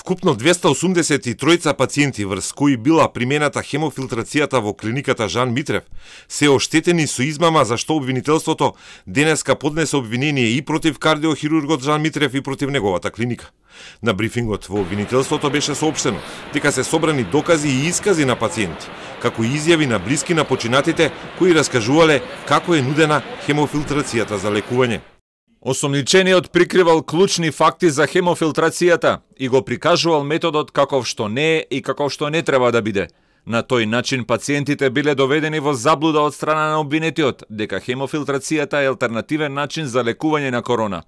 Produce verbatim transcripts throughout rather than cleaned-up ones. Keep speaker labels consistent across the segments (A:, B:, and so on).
A: Вкупно двеста осумдесет и тројца пациенти врз кои била примената хемофилтрацијата во клиниката Жан Митрев се оштетени со измама за што обвинителството денеска поднесе обвинение и против кардиохирургот Жан Митрев и против неговата клиника. На брифингот во обвинителството беше соопштено дека се собрани докази и искази на пациенти, како и изјави на блиски на починатите кои раскажувале како е нудена хемофилтрацијата за лекување.
B: Осомничениот прикривал клучни факти за хемофилтрацијата и го прикажувал методот каков што не е и каков што не треба да биде. На тој начин пациентите биле доведени во заблуда од страна на обвинетиот дека хемофилтрацијата е алтернативен начин за лекување на корона.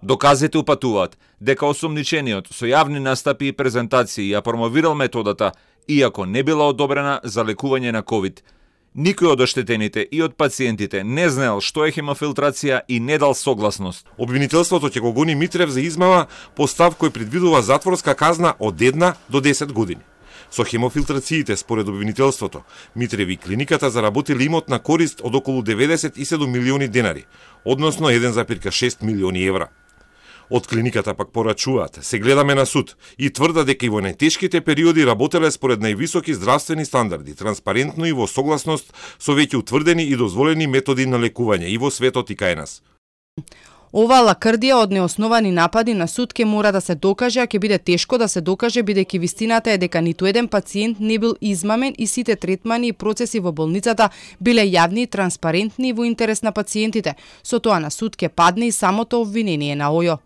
B: Доказите упатуваат дека осомничениот со јавни настапи и презентации ја промовирал методата, иако не била одобрена за лекување на ковид. Никој од оштетените и од пациентите не знаел што е хемофилтрација и не дал согласност.
A: Обвинителството ќе го гони Митрев за измама по став кој предвидува затворска казна од една до десет години. Со хемофилтрациите, според обвинителството, Митрев и клиниката заработили имот на корист од околу деветдесет и седум милиони денари, односно еден зарез шест милиони евра. Од клиниката пак порачуваат, се гледаме на суд и тврда дека и во најтешките периоди работеле според највисоки здравствени стандарди, транспарентно и во согласност со веќе утврдени и дозволени методи на лекување и во светот и кај нас.
C: Ова лакрдија од неосновани напади на суд ке мора да се докаже, а ќе биде тешко да се докаже бидејќи вистината е дека ниту еден пациент не бил измамен и сите третмани и процеси во болницата биле јавни и транспарентни и во интерес на пациентите. Со тоа на суд ке падне и самото обвинение на ОЈО.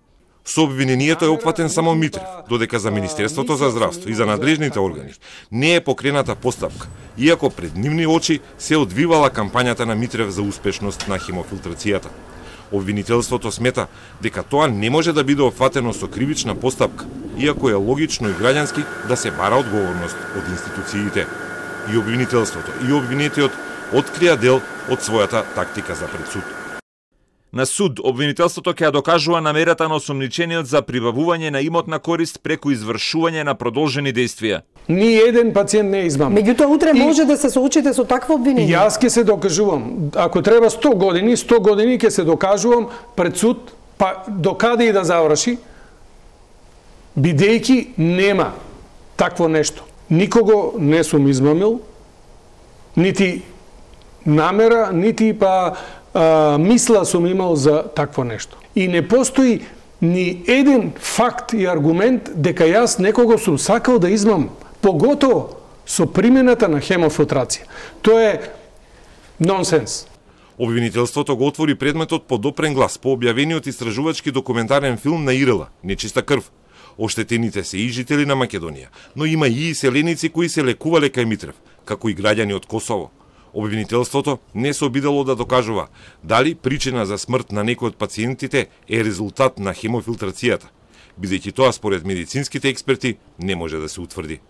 A: Со обвинението е опфатен само Митрев, додека за Министерството за здравство и за надлежните органи не е покрената постапка, иако пред нивни очи се одвивала кампањата на Митрев за успешност на хемофилтрацијата. Обвинителството смета дека тоа не може да биде опфатено со кривична постапка, иако е логично и граѓански да се бара одговорност од институциите. И обвинителството и обвинетиот открија дел од својата тактика за пред суд.
B: На суд, обвинителството ќе ја докажува намерата на осомничениот за прибавување на имот на корист преку извршување на продолжени действија.
D: Ни еден пациент не е измамен.
E: Меѓутоа утре и... може да се соочите со такво обвинение.
D: Јас ќе се докажувам. Ако треба сто години, сто години ќе се докажувам пред суд, па докаде и да заврши, бидејќи нема такво нешто. Никого не сум измамил, нити намера, нити па а, мисла сум имал за такво нешто. И не постои ни еден факт и аргумент дека јас некого сум сакал да измамам, поготово со примената на хемофилтрација. Тоа е нонсенс.
A: Обвинителството го отвори предметот по допрен глас по објавениот истражувачки документарен филм на Ирела "Нечиста крв". Оштетените се и жители на Македонија, но има и иселеници кои се лекувале кај Митрев, како и граѓани од Косово. Обвинителството не се обидело да докажува дали причина за смрт на некој од пациентите е резултат на хемофилтрацијата, бидејќи тоа според медицинските експерти не може да се утврди.